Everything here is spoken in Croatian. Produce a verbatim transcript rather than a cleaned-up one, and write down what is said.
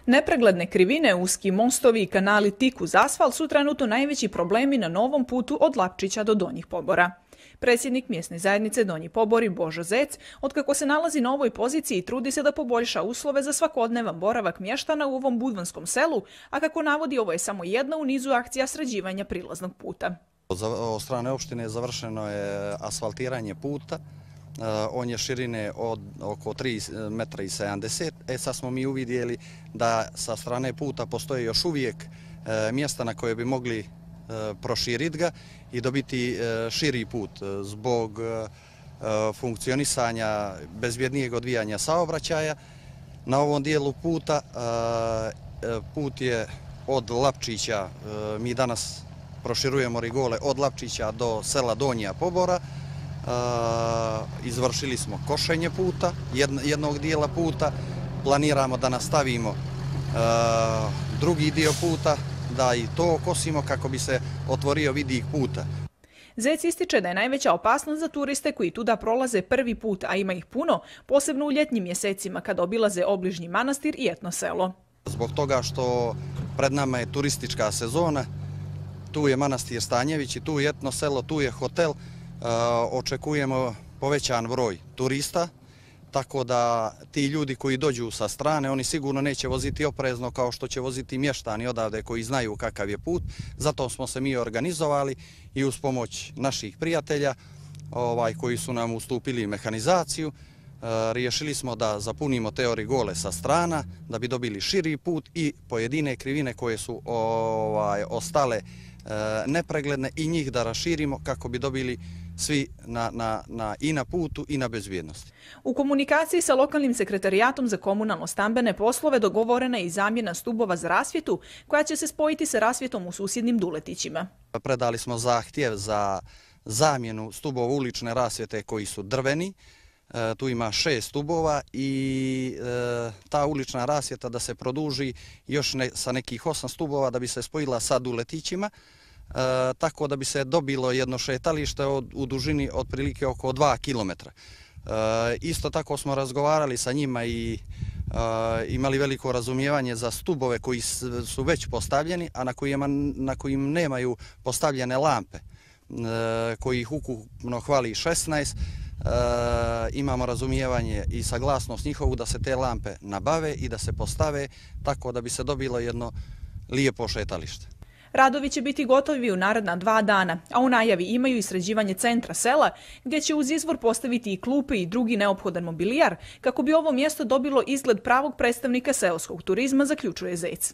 Nepregledne krivine, uski mostovi i kanali tik uz asfalt su trenutno najveći problemi na novom putu od Lapčića do Donjih Pobora. Predsjednik mjesne zajednice Donji Pobori Božo Zec, otkako se nalazi na ovoj poziciji, trudi se da poboljša uslove za svakodnevan boravak mještana u ovom budvanskom selu, a kako navodi, ovo je samo jedna u nizu akcija sređivanja prilaznog puta. Od strane opštine završeno je asfaltiranje puta. On je širine od oko tri metra i sedamdeset. E sad smo mi uvidjeli da sa strane puta postoje još uvijek mjesta na koje bi mogli proširiti ga i dobiti širi put zbog funkcionisanja bezbjednijeg odvijanja saobraćaja. Na ovom dijelu puta, put je od Lapčića, mi danas proširujemo rigole od Lapčića do sela Donja Pobora. Izvršili smo košenje puta, jednog dijela puta, planiramo da nastavimo drugi dio puta, da i to okosimo kako bi se otvorio vidik puta. Zec ističe da je najveća opasnost za turiste koji tuda prolaze prvi put, a ima ih puno, posebno u ljetnim mjesecima kad obilaze obližnji manastir i etno selo. Zbog toga što pred nama je turistička sezona, tu je manastir Stanjević i tu je etno selo, tu je hotel, očekujemo povećan broj turista, tako da ti ljudi koji dođu sa strane, oni sigurno neće voziti oprezno kao što će voziti mještani odavde koji znaju kakav je put. Zato smo se mi organizovali i uz pomoć naših prijatelja ovaj, koji su nam ustupili mehanizaciju, riješili smo da zapunimo te rigole sa strana, da bi dobili širi put i pojedine krivine koje su ovaj, ostale nepregledne i njih da raširimo kako bi dobili svi na, na, na, i na putu i na bezbjednosti. U komunikaciji sa lokalnim sekretarijatom za komunalno-stambene poslove dogovorena je i zamjena stubova za rasvjetu koja će se spojiti sa rasvjetom u susjednim Duletićima. Predali smo zahtjev za zamjenu stubova ulične rasvjete koji su drveni. E, tu ima šest stubova i e, ta ulična rasvjeta da se produži još ne, sa nekih osam stubova da bi se spojila sa Duletićima. E, tako da bi se dobilo jedno šetalište od, u dužini otprilike oko dva kilometra. E, isto tako smo razgovarali sa njima i e, imali veliko razumijevanje za stubove koji su već postavljeni, a na kojima, na kojim nemaju postavljene lampe, e, koji ih ukupno hvali šesnaest. E, imamo razumijevanje i saglasnost njihovu da se te lampe nabave i da se postave tako da bi se dobilo jedno lijepo šetalište. Radovi će biti gotovi u naredna dva dana, a u najavi imaju i sređivanje centra sela, gdje će uz izvor postaviti i klupe i drugi neophodan mobilijar, kako bi ovo mjesto dobilo izgled pravog predstavnika seoskog turizma, zaključuje Zec.